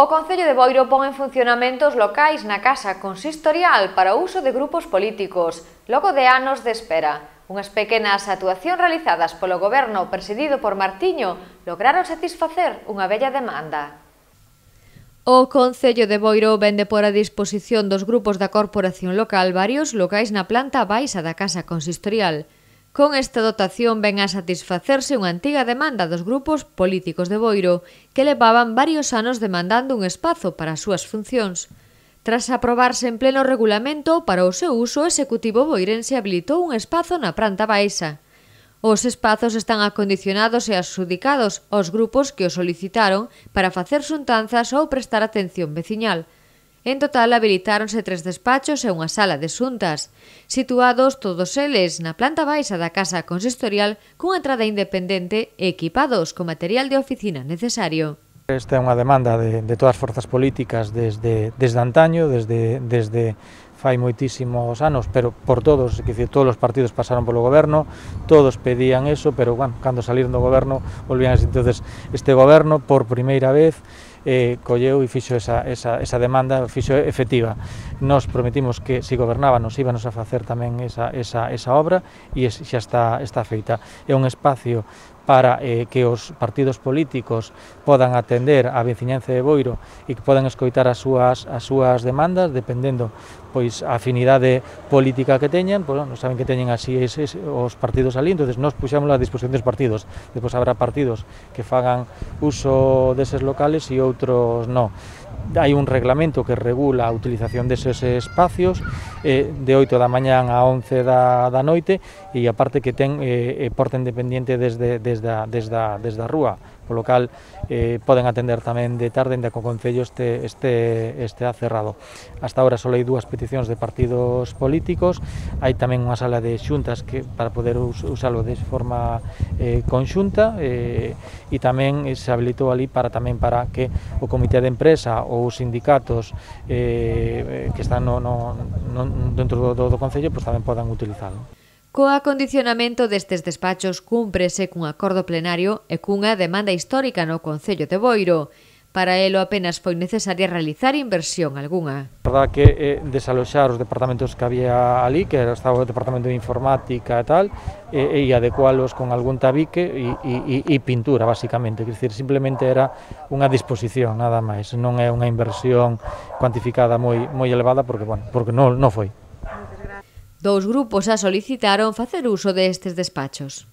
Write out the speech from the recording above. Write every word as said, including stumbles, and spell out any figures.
O Concello de Boiro pon en funcionamento os locais na Casa Consistorial para o uso de grupos políticos, logo de anos de espera. Unhas pequenas actuacións realizadas polo Goberno presidido por Martiño lograron satisfacer unha bella demanda. O Concello de Boiro vende por a disposición dos grupos da corporación local varios locais na planta baixa da Casa Consistorial. Con esta dotación ven a satisfacerse unha antiga demanda dos grupos políticos de Boiro que levaban varios anos demandando un espazo para as súas funcións. Tras aprobarse en pleno regulamento para o seu uso, o Executivo boirense habilitou un espazo na planta baixa. Os espazos están acondicionados e adxudicados aos grupos que o solicitaron para facer xuntanzas ou prestar atención veciñal. En total, habilitáronse tres despachos e unha sala de xuntas, situados todos eles na planta baixa da Casa Consistorial cunha entrada independente e equipados con material de oficina necesario. Esta é unha demanda de, de todas as forzas políticas desde, desde antaño, desde, desde fai moitísimos anos, pero por todos, que decir, todos os partidos pasaron polo goberno, todos pedían eso, pero bueno, cando saliron do goberno, volvían así. Entonces, este goberno, por primeira vez, eh, colleu e fixo esa, esa, esa demanda, fixo efectiva. Nos prometimos que, se gobernábamos, íbanos a facer tamén esa, esa, esa obra e xa está, está feita. É un espacio para eh, que os partidos políticos podan atender a veciñanza de Boiro e que podan escoitar as súas, as súas demandas, dependendo pois a afinidade política que teñan, pois, non saben que teñen así eses, os partidos ali, entonces nos puxámoslo a disposición dos partidos. Depois habrá partidos que fagan uso deses locales e outros non. Hai un reglamento que regula a utilización deses espacios eh, de oito da mañán a once da, da noite e aparte que ten eh, porta independiente desde, desde, a, desde, a, desde a rúa, polo cal eh, poden atender tamén de tarde, ainda que o Concello este, este, este cerrado. Hasta ahora só hai dúas peticións de partidos políticos, hai tamén unha sala de xuntas que, para poder us, usalo de forma eh, conxunta eh, e tamén se habilitou ali para tamén para que o comité de empresa ou os sindicatos eh, que están no, no, no, dentro do, do Concello pues, tamén podan utilizalo. Co acondicionamento destes despachos cúmprese cun acordo plenario e cunha demanda histórica no Concello de Boiro. Para elo apenas foi necesaria realizar inversión algunha. A verdade que eh, desaloxar os departamentos que había ali, que estaba o departamento de informática e tal, e, e adecualos con algún tabique e, e, e pintura, basicamente. Quer dizer, simplemente era unha disposición, nada máis. Non é unha inversión cuantificada moi, moi elevada, porque, bueno, porque non, non foi. Dous grupos a solicitaron facer uso destes despachos.